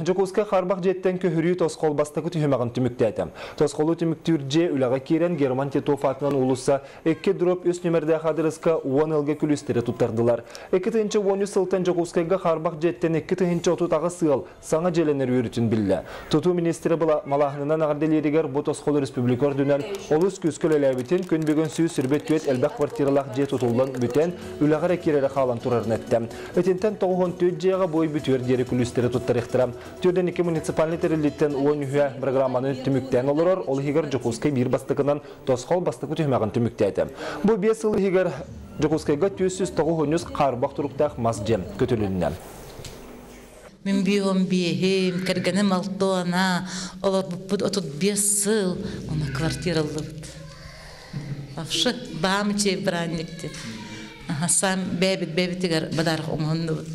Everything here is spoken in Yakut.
Дьокуускай хаарбах дьиэттэн көһөрүү тосхол бастакы түһүмэҕин түмүктээтэ. Тосхолу түмүктүүр дьиэ үлэҕэ киирэн Герман Титов аатынан уулусса 2/3 нүмердээх аадырыска 10 ыалга күлүүстэри туттардылар. 2013 сылтан Дьокуускайга хаарбах дьиэттэн 2038 ыал саҥа дьиэлэнэр үөрүүтүн биллэ. Тутуу министрэ малааһынынан эҕэрдэлииригэр бу тосхол республика үрдүнэн олус күүскэ үлэлээбитин, күн бүгүн 124 элбэх квартиралаах дьиэ тутуллан бүтэн, үлэҕэ эрэ киирэрэ хаалан турарын эттэ. Итинтэн 94 дьиэҕэ бой бүтүөр диэри күлүүстэри туттарыахтара. Төрдөн икки муниципальный тэриллииттэн 13 программаны түмүктээн олорор, ол иһигэр Дьокуускай биир бастакынан тосхол бастакы түһүмэҕин түмүктээтэ. Бу 5 сыл иһигэр Дьокуускайга 493 хаарбах туруктаах мас дьиэ көтүлүннэ. Мин биэһим биэһим, кэргэним алтуона, олорбуппут 35 сыл, уна квартираллыбыт. Вообще, баам чей бранникти. Сам бэбит бэбитигэр бадарах оҥоһуннубут.